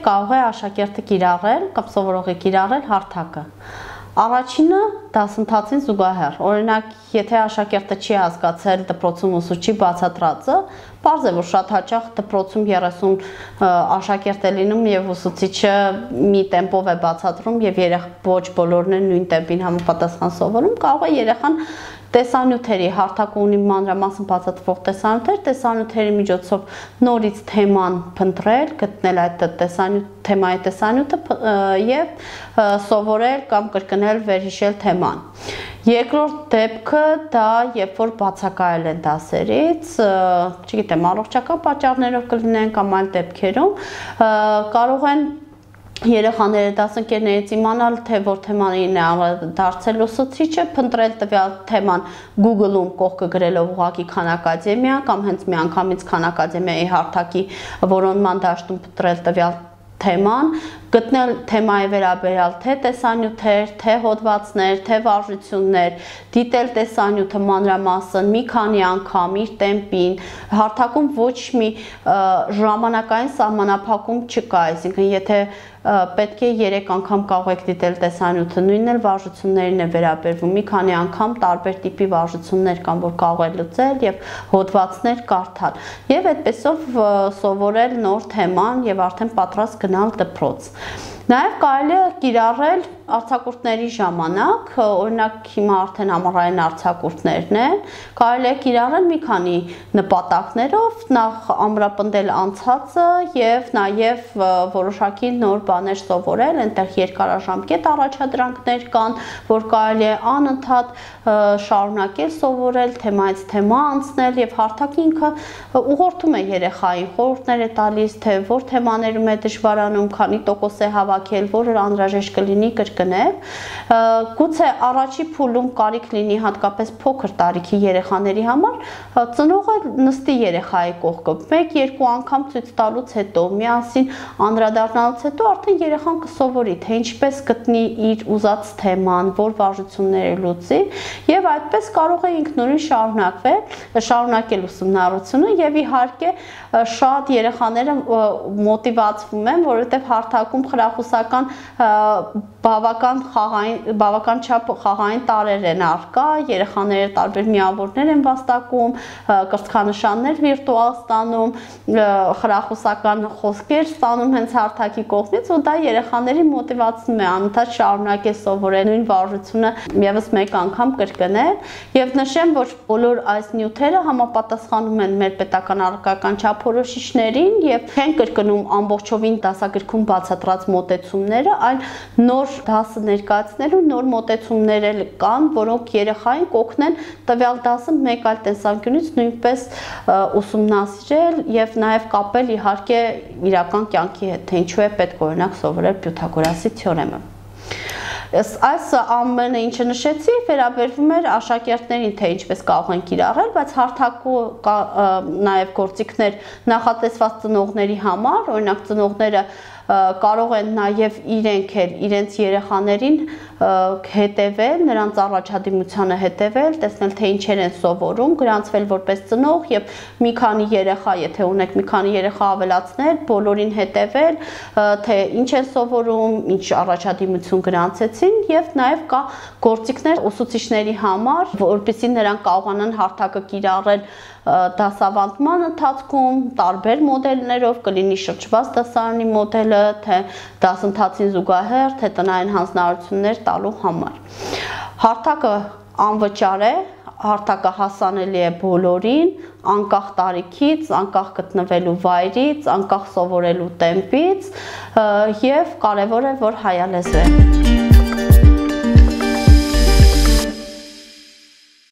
կարող է աշակերտը կիրառել կամ սովորողի կիրառել հարթակը։ Առաջինը դասընթացին զուգահեռ, օրինակ, եթե աշակերտը չի հասկացել դպրոցում ուսուցչի բացատրածը, պարզ է, որ շատ հաճախ դպրոցում 30 աշակերտ է լինում եւ ուսուցիչը մի տեմպով է բացատրում եւ ոչ բոլորն են նույն տեմպին համապատասխան սովորում, կարող է երեխան տեսանյութերի հարթակը ունի մանրամասն բացատրվող տեսանյութերի միջոցով նորից թեման փնտրել, գտնել այդ թեմայի տեսանյութը եւ սովորել կամ կրկնել վերհիշել թեման։ Երկրորդ դեպքը դա երբ որ բացակայել են դասերից, չգիտեմ, առողջական պատճառներով կլինեն կամ այլ դեպքերում, կարող են երեխաները դասընկերներից իմանալ, թե որ թեմանին է դարձել ուսուցիչը, փնտրել տվյալ թեման Google-ում կողքը գրելով ուղղակի Khan Academia կամ հենց միանգամից Khan Academia-ի հարթակի որոնման դաշտում փնտրել տվյալ թեման, գտնել թեմայի վերաբերյալ թե տեսանյութեր, թե հոդվածներ, թե վարժություններ, դիտել տեսանյութը մանրամասն մի քանի անգամ իր տեմպին, հարթակում ոչ մի ժամանակային սահմանափակում չկա, այսինքն եթե պետք է 3 անգամ կարող եք դիտել տեսանյութը, նույնն էլ վարժություններին է վերաբերվում, մի քանի անգամ տարբեր տիպի վարժություններ կան, որ կարող է լուծել եւ հոդվածներ կարդալ եւ այդպեսով սովորել նոր թեման եւ արդեն պատրաստ գնալ դպրոց։ Նաև կարելի է կիրառել արձակուրդների ժամանակ, օրինակ հիմա արդեն ամառային արձակուրդներն են, կարելի է կիրառել մի քանի նպատակներով, նախ ամրապնդել անցածը եւ նաև որոշակի նոր բաներ սովորել, այնտեղ երկարաժամկետ առաջադրանքներ կան, որ կարելի է անընդհատ շարունակել սովորել, թեմայից թեմա անցնել եւ հարթակը ինքը ուղղորդում է երեխային, խորհուրդներ է տալիս, թե որ թեմաներում է դժվարանում, քանի տոկոս է հավաքել, որը անհրաժեշտ կլինի կրկնել, գուցե առաջի փուլում կարիք լինի հատկապես փոքր տարիքի երեխաների համար, ծնողը նստի երեխայի կողքը, 1-2 անգամ ցույց տալուց հետո, միասին անդրադառնալուց հետո արդեն երեխան կսովորի, թե ինչպես գտնի իր ուզած թեման, որ վարժությունները լուծի, եւ այդպես կարող է ինքնուրույն շարունակել ուսումնառությունը եւ իհարկե շատ երեխաները մոտիվացվում են, որովհետեւ հարթակում խրախուսական բավական չափ խաղային տարեր են առկա, երեխաները տարբեր միավորներ են վաստակում, կրծքանշաններ վիրտուալ ստանում, խրախուսական խոսքեր ստանում հենց հարթակի կողմից ու դա երեխաների մոտիվացնում է անընդհատ շարունակել սովորել նույն վարժությունը եւս մեկ անգամ կրկնել եւ նշեմ, որ բոլոր այս նյութերը համապատասխանում են մեր պետական առարկական չափորոշիչներին եւ չեն կրկնում ամբողջովին դասագրքում բացատրած մոտեցումները, այլ նոր դասը ներկայացնելու նոր մոտեցումներ կան, որոնք երեխային կօգնեն տվյալ դասը մեկ այլ տեսանկյունից նույնպես ուսումնասիրել եւ նաեւ կապել իհարկե իրական կյանքի հետ, թե ինչու է պետք օրինակ սովորել Պյութագորասի թեորեմը։ Այս ամենը ինչը նշեցի, վերաբերվում էր աշակերտներին, թե ինչպես կարող են կիրառել, բայց հարթակու նաև գործիքներ նախատեսված ծնողների համար, օրինակ ծնողները կարող են նաև իրենց երեխաներին հետևել, նրանց առաջադիմությանը հետևել, տեսնել թե ինչեր են սովորում, գրանցվել որպես ծնող եւ մի քանի երեխա, եթե ունեք մի քանի երեխա ավելացնել, բոլորին հետևել, թե ինչ են սովորում, ինչ առաջադիմություն գրանցեցին եւ նաև կա գործիքներ ուսուցիչների համար, որպեսզի նրանք կարողանան հարթակը կիրառել դասավանդման ընթացքում տարբեր մոդելներով, կլինի շրջված դասարանի մոդելը, թե դասընթացին զուգահեռ, թե տնային հանձնարարություններ տալու համար։ Հարթակը անվճար է, հարթակը հասանելի է բոլորին, անկախ տարիքից, անկախ գտնվելու վայրից, անկախ սովորելու տեմպից եւ կարեւոր է, որ հայալեզու է։